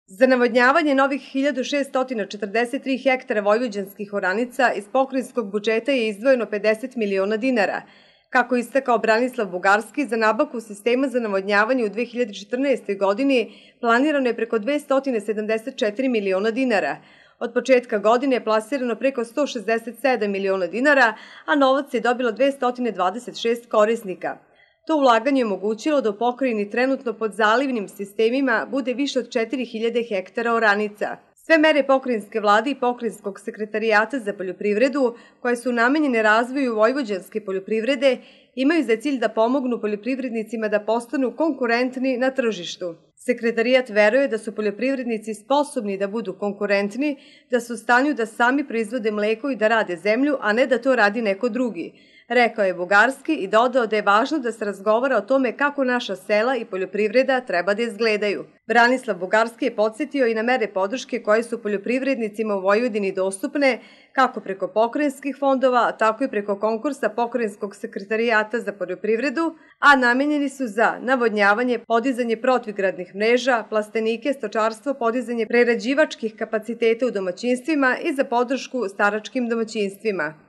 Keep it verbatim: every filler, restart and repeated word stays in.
Za navodnjavanje novih hiljadu šessto četrdeset tri hektara vojvođanskih oranica iz pokrajinskog budžeta je izdvojeno pedeset miliona dinara. Kako je istakao Branislav Bugarski, za nabavku sistema za navodnjavanje u dve hiljade četrnaestoj. godini planirano je preko dvesta sedamdeset četiri miliona dinara. Od početka godine je plasirano preko sto šezdeset sedam miliona dinara, a novac je dobilo dvesta dvadeset šest korisnika. To ulaganje je omogućilo da u pokrajini trenutno pod zalivnim sistemima bude više od četiri hiljade hektara oranica. Sve mere pokrajinske vlade i pokrajinskog sekretarijata za poljoprivredu, koje su namenjene razvoju vojvođanske poljoprivrede, imaju za cilj da pomognu poljoprivrednicima da postanu konkurentni na tržištu. Sekretarijat veruje da su poljoprivrednici sposobni da budu konkurentni, da su u stanju da sami proizvode mleko i da rade zemlju, a ne da to radi neko drugi. Rekao je Bugarski i dodao da je važno da se razgovara o tome kako naša sela i poljoprivreda treba da izgledaju. Branislav Bugarski je podsjetio i na mere podrške koje su poljoprivrednicima u Vojvodini dostupne, kako preko pokrajinskih fondova, tako i preko konkursa Pokrajinskog sekretarijata za poljoprivredu, a namenjeni su za navodnjavanje, podizanje protivgradnih mreža, plastenike, stočarstvo, podizanje prerađivačkih kapaciteta u domaćinstvima i za podršku staračkim domaćinstvima.